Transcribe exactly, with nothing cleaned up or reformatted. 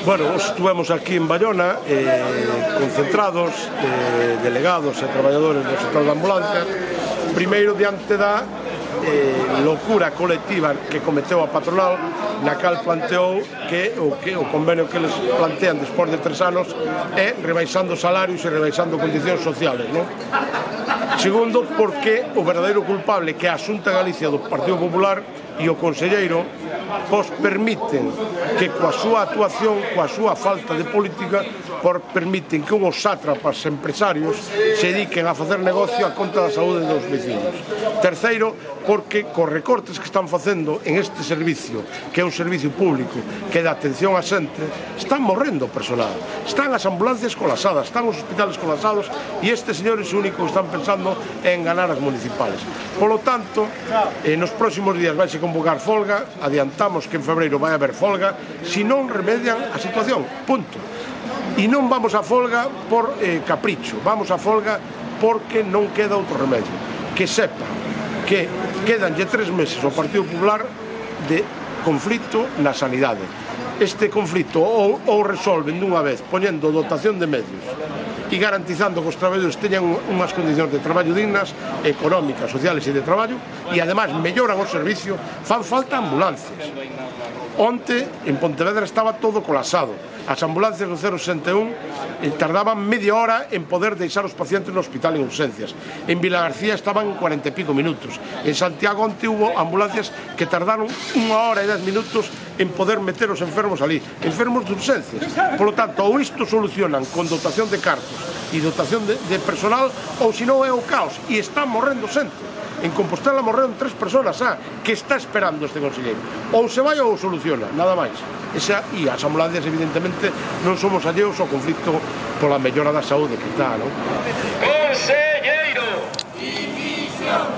Bueno, estuvemos aquí en Bayona eh, concentrados, eh, delegados e traballadores do sector da ambulancia, primeiro diante da eh, locura colectiva que cometeu a patronal, na cal planteou que o, que o convenio que les plantean despois de tres anos é rebaixando salarios e rebaixando condicións sociales, non? Segundo, porque o verdadeiro culpable, que é a Xunta de Galicia do Partido Popular e o conselleiro, pois permiten que coa súa actuación, coa súa falta de política, por permiten que unhos sátrapas empresarios se dediquen a facer negocio a conta da saúde dos vecinos. Terceiro, porque cos recortes que están facendo en este servicio, que é un servicio público que dá atención a xente, están morrendo o personal, están as ambulancias colapsadas, están os hospitales colapsados, e estes señores o único que están pensando é en ganar as municipales. Polo tanto, eh, nos próximos días vai se convocar folga, adiantamos que en febreiro vai haber folga, se non remedian a situación, punto. E non vamos a folga por eh, capricho, vamos a folga porque non queda outro remedio. Que sepa que quedanlle tres meses ao Partido Popular de conflito na sanidade. Este conflito ou, ou resolven dunha vez poñendo dotación de medios e garantizando que os traballadores teñan unhas condicións de traballo dignas, económicas, sociales e de traballo, e ademais melloran o servicio, fan falta ambulancias. Onte, en Pontevedra estaba todo colapsado. As ambulancias do cero sesenta e un tardaban media hora en poder deixar os pacientes no hospital en urgencias. En Vilagarcía estaban cuarenta e pico minutos. En Santiago onte hubo ambulancias que tardaron unha hora e dez minutos en poder meter os enfermos ali, enfermos de urgencias. Por lo tanto, ou isto solucionan con dotación de cartos e dotación de, de personal, ou se non é o caos, e están morrendo xente. En Compostela morreron tres personas, ah, que está esperando este conselleiro. Ou se vai ou soluciona, nada máis. Esa, e as ambulancias, evidentemente, non somos alleos ao conflito pola mellora da saúde que está, non? Conselleiro! Dimisión!